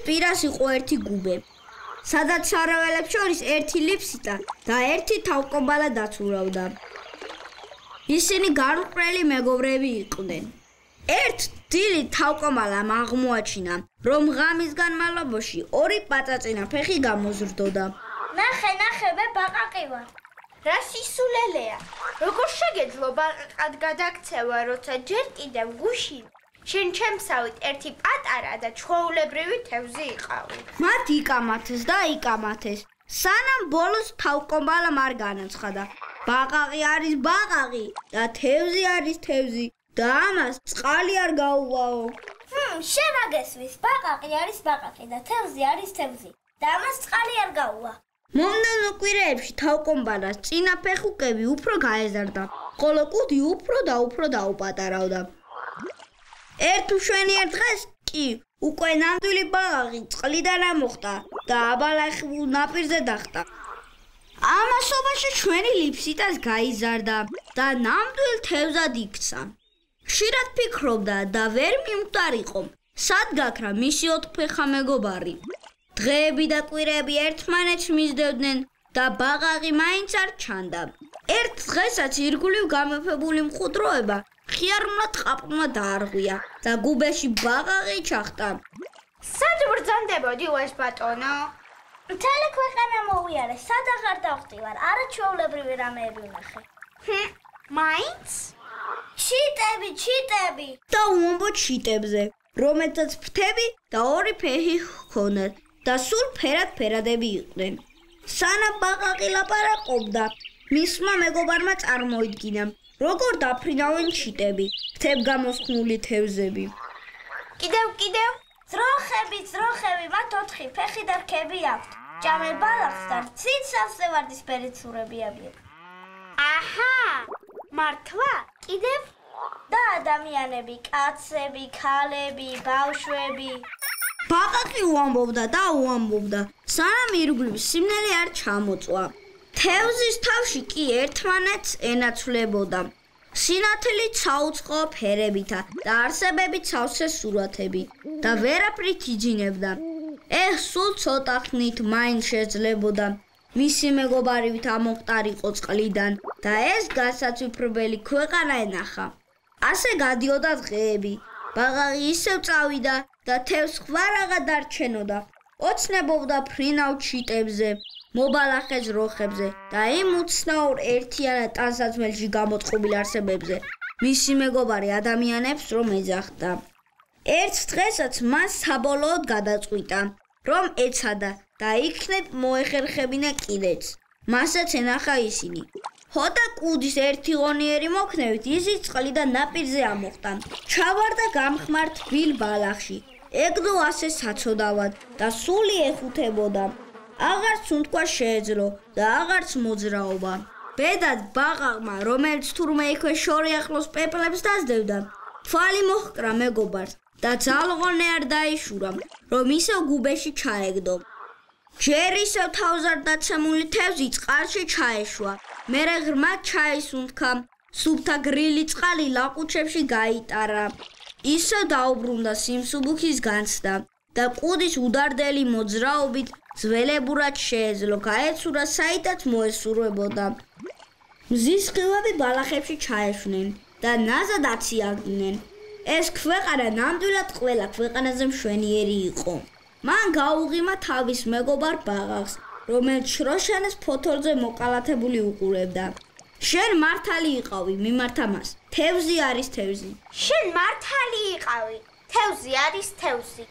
პირას იყო ერთი გუბე. სადაც სარაველებს შორის ერთი ლიფსიტა და ერთი თავკომბალა დაცურავდა. ისინი გარუყრელი მეგობრები იყვნენ. ერთ დილით თავკომბალამ აღმოაჩინა, რომ ღამის განმავლობაში ორი პაწაწინა ფეხი გამოზრდოდა. ნახე, მე ბაყაყი ვარ. რა სისულელეა. როგორ შეგეძლო ბაყაყად გადაქცევა, როცა ჯერ კიდევ გუში შენ ჩემსავით ერთი პატარა და ჩვეულებრივი თევზი იყავი. მათ იკამათეს და იკამათეს. სანამ ბოლოს თავკომბალამ არ განაცხადა. ბაყაყი არის ბაყაყი და თევზი არის თევზი და ამას წყალი არ გაუვაო. შენ რა გესმის? ბაყაყი არის ბაყაყი და თევზი არის თევზი და ამას წყალი არ გაუვა. მომდევნო კვირეებში თავკომბალას წინა ფეხუკები უფრო გაეზარდა, ხოლო კუდი უფრო და უფრო დაუპატარავდა. ერთ მშვენიერ დღეს კი უკვე ნამდვილი ბაყაყი წყლიდან ამოხდა და აბალახებულ ნაპირზე დახტა. ამასობაში ჩვენი ლიფსიტას გაიზარდა და ნამდვილ თევზად იქცა. ხშირად ფიქრობდა და ვერ მიხვდარიყო, სად გაქრა მისი ოთხფეხა მეგობარი. დღეები და კვირეები ერთმანეთს მისდევდნენ და ბაყაყი მაინც არ ჩანდა. ერთ დღესაც ირგვლივ გამეფებული მყუდროება ხიარმლად ყაპყმა დაარღვია და გუბეში ბაყაყი ჩახტა. სად ბრძანდებოდი ეს ბატონო? მთელი ქვეყანა მოვიარე, სად აღარ დავხტივარ, არაჩვეულებრივი რამეები ვნახე. მაინც? ჩიტები და უამბო ჩიტებზე, რომელთაც ფრთები და ორი ფეხი ჰქონდათ და სულ ფერადები იყვნენ. სანამ ბაყაყი ლაპარაკობდა, მისმა მეგობარმა წარმოიდგინა, როგორ დაფრინავენ ჩიტები, ფრთებგამოსხმული თევზები. კიდევ ძროხები, მათ 4 ფეხი და რქები აქვთ. ჭამენ ბალახს და ცით სავსევარდისფერი ცურები აქვთ. აჰა, მართლა? კიდევ? და ადამიანები, კაცები, ქალები, ბავშვები. ბაყაყი უამბობდა, სანამ ირგვლივ სიმნელი არ ჩამოწვა. თევზის თავში კი ერთმანეთს ენაცვლებოდა. სინათლე ცაუწყო ფერებითა და არსებებით სავსე სურათები და ვერაფრით იძინებდა. სულ ცოტა ხნით მაინც შეძლებოდა მისი მეგობარივით ამოხტარიყო წყლიდან და ეს განსაცვიფრებელი ქვეყანა ენახა. ასე გადიოდა დღეები. ბაყაყი ისევ წავიდა და თევზს ხვარაღად დარჩენოდა. ოცნებობდა ფრინავ ჩიტებზე, მობალახე ძროხებზე და იმ უცნაურ ერთიანად ტანსაცმელში გამოწყობილ არსებებზე, მისი მეგობარი ადამიანებს რომ ეძახდა. ერთ დღესაც მას საბოლოოდ გადაწყვიტა, რომ ეცადა და იქნებ მოეხერხებინა კიდეც. მასაც ენახა ისინი. ხოდა კუდის ერთი ღონიერი მოქნევით ისიც წყლიდან ნაპირზე ამოხტა. ჩავარდა გამხმარ თბილ ბალახში. ეგდო ასე საცოდავად და სული ეხუთებოდა. აღარც უთქვა შეეძლო და აღარც მოძრაობა. ბედად ბაყაყმა, რომელიც თურმე იქვე შორი ახლოს პეპლებს დაძდევდა, თვალი მოჰკრა მეგობარს და ძალღონე არ დაიშურა, რომ ისევ გუბეში ჩაეგდო. ჯერ ისევ თავზარდაცემული თევზი წყალში ჩაეშვა. მერე ღრმად ჩაის უთქა, სუფთა გრილი წყალი ლაყუჩებში გაიტარა. ისევ დაუბრუნდა სიმსუბუქის განცდა და კუდის უდარდელი მოძრაობით ძველებურად შეეძლო გაეცურა საიდაც მოესურვებოდა. მზის სხივები ბალახებში ჩაეშვნენ და ნაზად აციაგდნენ. ეს ქვეყანა ნამდვილად ყველა ქვეყანაზე მშვენიერი იყო. მან გაუღიმა თავის მეგობარ ბაყაყს, რომელიც შროშანის ფოთოლზე მოკალათებული უყურებდა. შენ მართალი იყავი, მიმართა მას. თევზი არის თევზი. შენ მართალი იყავი. თევზი არის თევზი.